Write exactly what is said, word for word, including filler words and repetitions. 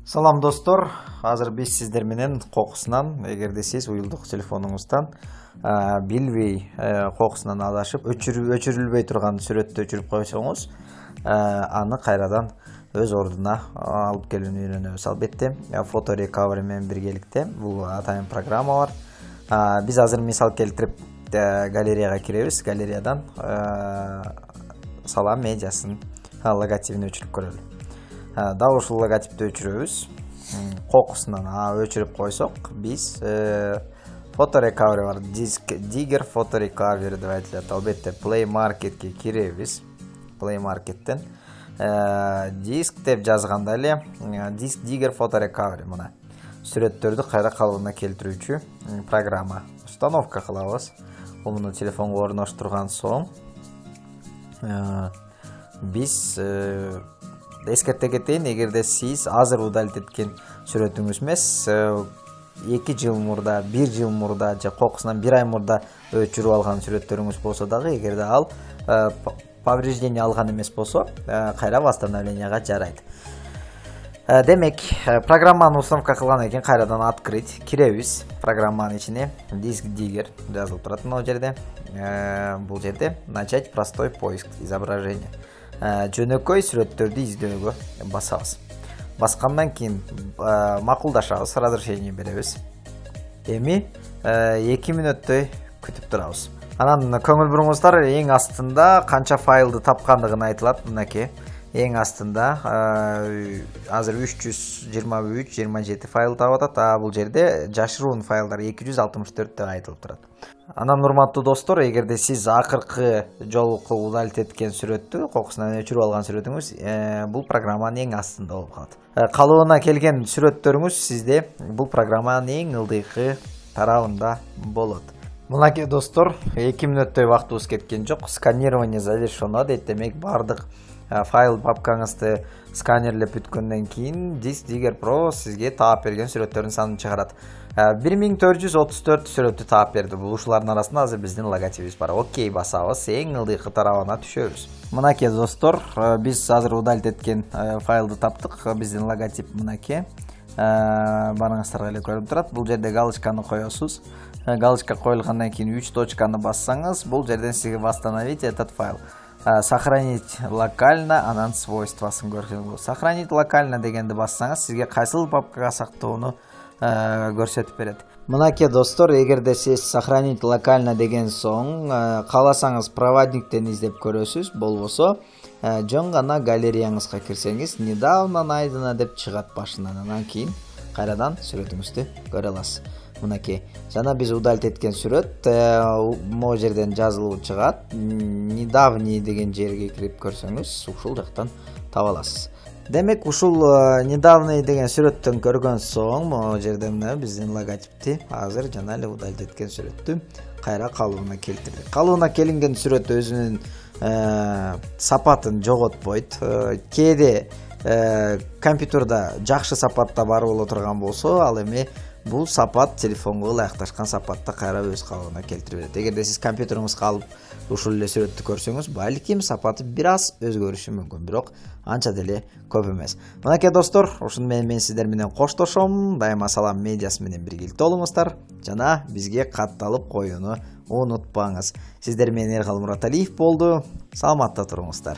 Салам достор, азыр биз сиздер менен кокусунан, эгерде сиз уюлдук телефонуңуздан билбей кокусунан адашып, өчүрүлбөй турган сүрөттү өчүрүп койсоңуз, аны кайрадан өз ордуна алып келүүнү үйрөнөбүз. Албетте, фото рекавери менен биргеликте бул атайын программа бар. Биз азыр мисал келтирип галереяга киребиз. Галереядан Салам медиасынын логотипин өчүрүп көрөлү. Дал ушул логотипти өчүрөбүз. Кокусунан өчүрүп койсок, биз фото рекавери бар. Диск Digger фото рекавери деп айтылат. Албетте, Play Marketке киребиз. Play Markеттен диск деп жазганда эле Disk Digger фото рекавери мына сүрөттөрдү кайра калыбына келтирүүчү программа. Установка кылабыз. Муну телефонго орноштурган соң биз эскерте кетейин, эгерде сиз азыр удалить эткен сүрөтүңүз эмес, эки жыл мурда, бир жыл мурда же кокусунан бир ай мурда өчүрүп алган сүрөттөрүңүз болсо дагы, эгерде ал повреждение алган эмес болсо, кайра восстановленияга жарайт. Демек, программаны установка кылгандан кийин кайрадан открыть киребиз. Программанын ичине Disk Digger жазылып турат мына жерде. Бул жерде начать простой поиск изображения. Жөнөкөй сүрөттөрдү издөөгө басабыз. Баскандан кийин макулдашабыз, разрешение беребиз. Эми эки мүнөттөй күтүп турабыз. Анан көңүл буруңуздар, эң астында канча файлды тапкандыгын айтылат. Мынакей, эң астында азыр үч жүз жыйырма үч жыйырма жети файл таап атат. А бул жерде жашыруун файлдар эки жүз алтымыш төрт деп айтылып турат. Анан урматтуу достор, эгерде сиз акыркы жолку удалить эткен сүрөттү, кокусунан өчүрүп алган сүрөтүңүз бул программанын эң астында болуп калат. Калыбына келген сүрөттөрүңүз сизде бул программанын эң ылдыйкы тарабында болот. Мынакей достор, эки мүнөттөй убактыбыз кеткен жок. Сканирование завершено дейт. Демек, бардык файл папкаңызды сканерлеп бүткөндөн кийин Disk Digger Pro сизге таап берген сүрөттөрдүн санын чыгарат. бир миң төрт жүз отуз төрт сүрөттү таап берди. Бул ушулардын арасында азыр биздин логотипибиз бар. Окей басабыз, эң ылдыйкы тарабына түшөбүз. Мынакей достор, биз азыр удалить эткен файлды таптык. Биздин логотип мынакей. Барыңыздарга эле көрүнүп турат. Бул жерде галочканы коесуз. Галочка коюлгандан кийин үч точканы бассаңыз, бул жерден сизге восстановить этот файл. Сохранить локально, анан свойствосын көрсөңүз. Сохранить локально дегенди бассаңыз, сизге кайсыл папкага сактоону көрсөтүп берет. Мынакей достор, эгерде сиз сохранить локально деген соң кааласаңыз проводниктен издеп көрөсүз, болбосо жөн гана галереяңызга кирсеңиз, недавно найдено деп чыгат башынан. Анан кийин кайрадан сүрөтүңүздү көрө аласыз. Мынакей, жана биз удалить эткен сүрөт могу жерден жазылып чыгат. Недавний деген жерге кирип көрсөңүз, ушул жактан таба аласыз. Демек, ушул недавний деген сүрөттөн көргөн соң, могу жерде мына биздин логотипти азыр жана эле удалить эткен сүрөттү кайра калыбына келтирдик. Калыбына келинген сүрөт өзүнүн сапатын жоготпойт. Кээде компьютерда жакшы сапатта бар боло турган болсо, ал эми бул сапат телефонго ылайыкташкан сапатта кайра өз калыбына келтирип берет. Эгерде сиз компьютериңизге алып ушул эле сүрөттү көрсөңүз, балким сапаты бир аз өзгөрүшү мүмкүн, бирок анча деле көп эмес. Мынакей достор, ушуну менен мен сиздер менен коштошом. Дайыма Салам медиасы менен биргеликте болуңуздар жана бизге катталып коюуну унутпаңыз. Сиздер менен Эргал Мураталиев болду. Саламатта туруңуздар.